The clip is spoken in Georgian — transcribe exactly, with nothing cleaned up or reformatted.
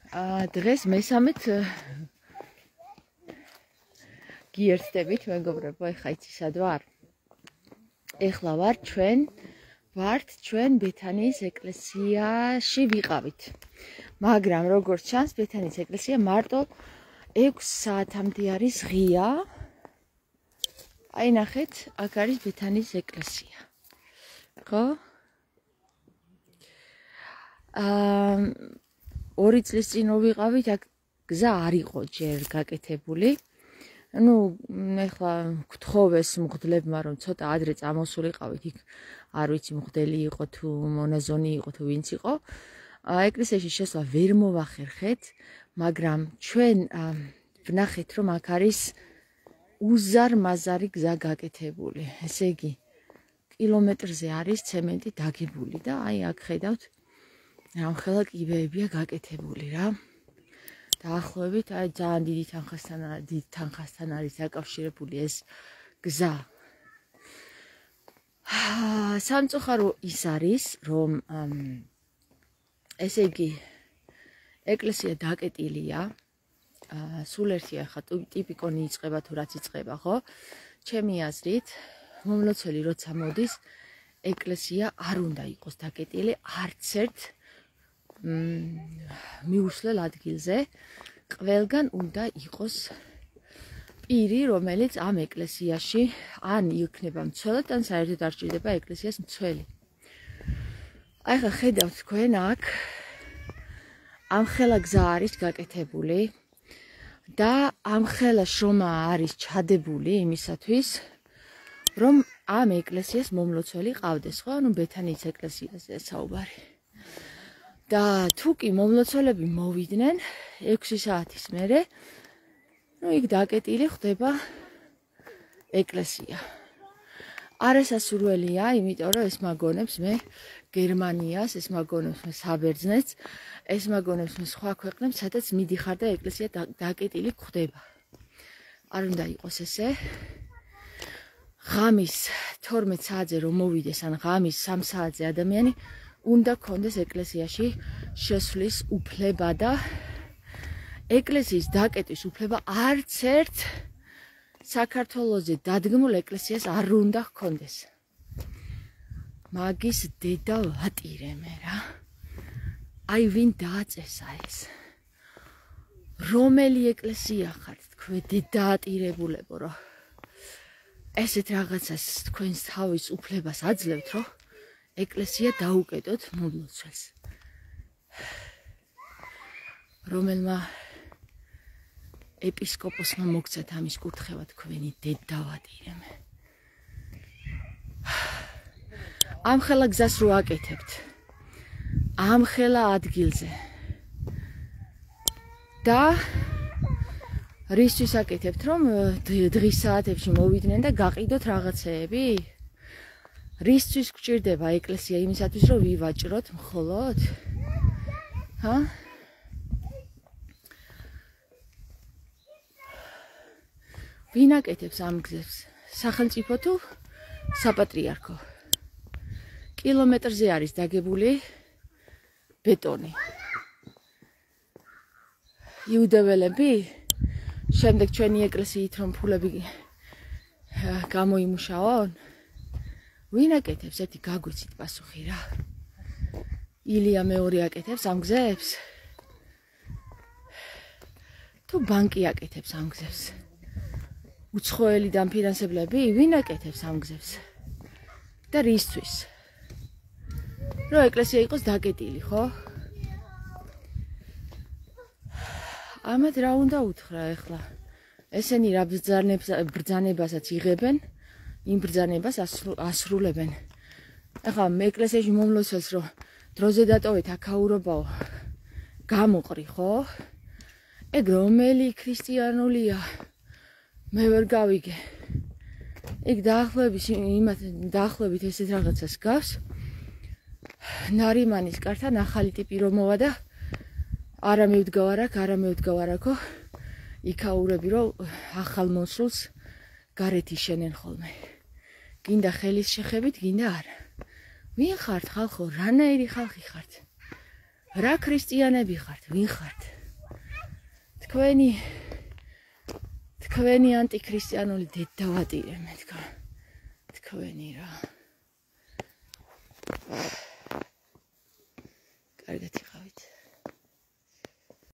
აა დღეს მესამედ გიერთდებით მეგობრებო, ეხა იცი სად ვარ? ეხლა ვარ ჩვენ ვართ ჩვენ ბეთანიის ეკლესიაში ვიყავით. მაგრამ როგორც ჩანს, ბეთანიის ეკლესია მარტო ექვს საათამდე არის ღია. აი ნახეთ, აქ არის ბეთანიის ეკლესია. ხო? აა ორი წლის წინ ვიყავით, აქ გზა არ იყო ჯერ გაკეთებული. ну, ეხლა გთხოვეს მღვდლებმა, რომ ცოტა ადრე წამოსულიყავით, იქ არ ვიცი მღვდელი იყო თუ მონაზონი იყო თუ ვინც იყო. ეკლესიაში შესვლა ვერ მოვახერხეთ, მაგრამ ჩვენ ვნახეთ, რომ აქ არის უზარმაზარი გზა გაკეთებული. ესე იგი, კილომეტრზე არის ცემენტი დაგებული და აი აქ ხედავთ, რამხელა კიბეებია გაკეთებული რა. დაახლოებით აი ძალიან დიდი თანხასთან დიდ თანხასთან არის დაკავშირებული ეს გზა. სამწუხარო ის არის, რომ ესე იგი ეკლესია დაკეტილია. სულ ერთი ახლა ტიპიკონი იწყება თუ რაც იწყება, ხო? ჩემი აზრით, მომლოცველი როცა მოდის, ეკლესია არ უნდა იყოს დაკეტილი არც ერთ მიუსვლელ ადგილზე. ყველგან უნდა იყოს პირი, რომელიც ამ ეკლესიაში ან იქნება მცველად, ან საერთოდ არ ჭირდება ეკლესიას მცველი. აი ხა ხედავთ თქვენ აქ ამხელა გზა არის გაკეთებული და ამხელა შრომა არის ჩადებული იმისათვის, რომ ამ ეკლესიას მომლოცველი ყავდეს, ხო? ანუ ბეთანიის ეკლესიაზეა საუბარი. და თუ კი მომლოცველები მოვიდნენ ექვსი საათის მერე, ну იქ დაკეტილი ხდება ეკლესია. არასასურველია, იმიტომ რომ ეს მაგონებს მე გერმანიას, ეს მაგონებს მე საბერძნეთს, ეს მაგონებს მე სხვა ქვეყნებს, სადაც მიდიხარ და ეკლესია დაკეტილი ხდება. არ უნდა იყოს ესე. ღამის თორმეტ საათზე რომ მოვიდეს, ან ღამის სამ საათზე ადამიანი უნდა კონდეს ეკლესიაში შესვლის უფლება და ეკლესიის დაკეტვის უფლება არც ერთ საქართველოზე დადგმულ ეკლესიას არ უნდა ჰქონდეს. მაგის დედა ვატირე მე რა. აი ვინ დააწესა ეს? რომელი ეკლესია ხართ თქვენ დედაატირებულებო, რომ ესეთ რაღაცას თქვენს თავის უფლებას აძლევთ, რომ ეკლესია დაუკეტოთ მომლოცველს. რომელმა ეპისკოპოსმა მოგცეთ ამის კურთხევა თქვენი დედავატირე მე. ამხელა გზას რო აკეთებთ, ამხელა ადგილზე და რისთვის აკეთებთ, რომ დღის საათებში მოვიდნენ და გაყიდოთ რაღაცეები? რისთვის გჭირდება ეკლესია იმისათვის, რომ ვივაჭროთ მხოლოდ? ჰა? ვინ აკეთებს ამ გზებს? სახელმწიფო თუ საპატრიარქო? კილომეტრზე არის დაგებული ბეტონი. იუდეველები, შემდეგ ჩვენი ეკლესიით რომ ფულები გამოიმუშაონ, ვინ აკეთებს? ერთი გაგვიცით პასუხი რა. ილია მეორე აკეთებს ამ გზებს? თუ ბანკი აკეთებს ამ გზებს? უცხოელი დამფინანსებლები, ვინ აკეთებს ამ გზებს? და რისთვის? რომ ეკლესია იყოს დაკეტილი, ხო? ამათ რა უნდა უთხრა ეხლა? ესენი რა ბრძანებასაც იღებენ, იმ ბრძანებას ასრულებენ. ეხლა ეკლესიაში მომლოცველს რომ დროზე დატოვეთ აქაურობაო, გამოყრი, ხო? ეგ რომელი ქრისტიანულია? მე ვერ გავიგე. ეგ დაახლოებით იმათ დაახლოებით ესეთ რაღაცას გავს. ნარიმანის კართან ახალი ტიპი რომ მოვა და არა მევდგავარ აქ, არა მევდგავარ აქო. იქაურები რომ ახალ მოსულს გარეთ იშენენ ხოლმე. გინდა ხელის შეხებით, გინდა არა. ვინ ხართ ხალხო? რანაირი ხალხი ხართ? რა ქრისტიანები ხართ? ვინ ხართ? თქვენი თქვენი ანტიქრისტიანული დედავატირე მეთქა თქვენი რა